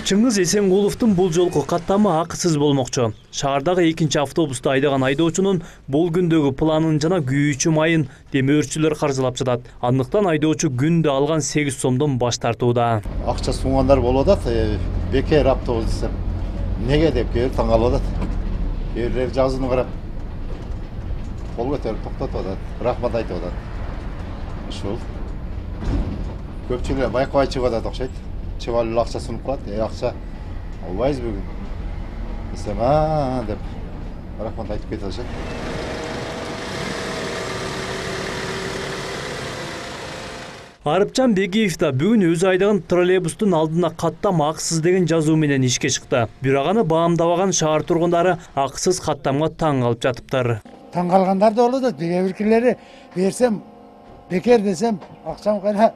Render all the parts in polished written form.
Чыңгыз Эсенгуловдун бул жолку каттамы акысыз болмокчу. Шаардагы экинчи автобусту айдаган айдоочунун бул күндөгү планын жана күйүүчү майын демөөрчүлөр каржылап жатат. Андыктан айдоочу күндө алган 8 сомдон баш тартууда. Акча сунгандар болуп атат, бекер автобус десем. Неге деп келип таң калып атат. Кээрлер жазууну карап кол көтөрүп токтотуп атат, рахмат айтып атат. Ушул көпчүлөр байкабай чыгып атат окшойт. Чыгып алып акча сунуп калат. Акча албайбыз бүгүн десем, деп рахмат айтып кетип атышат. Арыпчан Бегиев да бүгүн өзү айдаган троллейбустун алдына каттам акысыз деген жазуу менен ишке чыкты. Бирок аны баамдабаган шаар тургундары акысыз каттамга таң калып жатыптыр. Таң калгандар да болот, биркилери берсем бекер десем, акчам кайра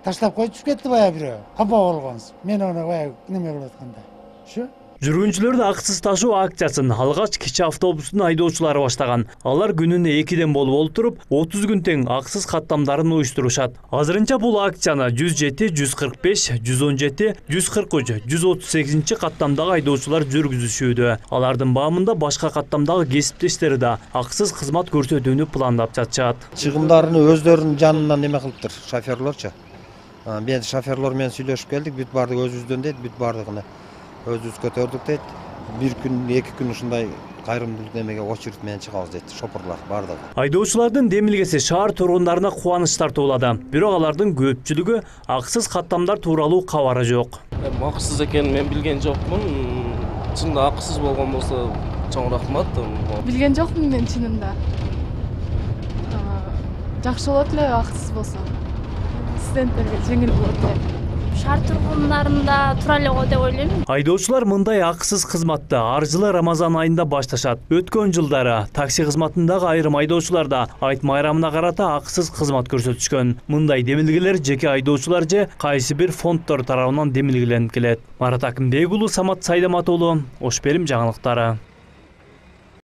таштап коюп кетти баягы бирөө. Капа болгонсуз. Мен аны баягы неме кылып атканда. Ушу. Жүргүнчүлөрдү акысыз ташуу акциясын алгач кичи автобустун айдоочулары баштаган. Алар күнүнө 2ден болуп олтуруп 30 күн тең акысыз каттамдарын уюштурушат. Азырынча бул акцияны 107, 145, 117, 143, 138 каттамдагы айдоочулар жүргүзүшүүдө. Алардын баамында башка каттамдагы кесиптештери да акысыз кызмат көрсөтүүнү пландап жатышат. Чыгымдарын өздөрүнүн жанынан неме кылыптыр, шоферлорчу. Мен шоферлор менен сүйлөшүп келдик, бүт бардыгы өзүбүздөн дейт, бүт бардыгыны өзүбүз көтөрдүк дейт. Бир күн, 2 күн ушундай кайрымдуулук немеге очередь менен чыгабыз дейт, шопурлар бардыгы. Айдоочулардын демилгеси шаар тургундарына кубаныч тартуулады. Бирок алардын көпчүлүгү акысыз каттамдар тууралуу кабары жок. Акысыз экенин мен билген жокмун. Чынында акысыз болгон болсо чоң рахмат. Билген жокмун мен чынында. Жакшы болот эле акысыз болсо. Студенттерге жеңил болот эле. Шаар тургундарында тура эле го деп ойлойм. Айдоочулар мындай акысыз кызматты ар жылы Рамазан айында башташат. Өткөн жылдары такси кызматындагы айрым айдоочулар да айт майрамына карата акысыз кызмат көрсөтүшкөн. Мындай демилгелер жеке айдоочулар же кайсы бир фонддор тарабынан демилгеленип келет. Марат Акымбек уулу, Самат Сайдамат уулу, Ош Перим жаңылыктары.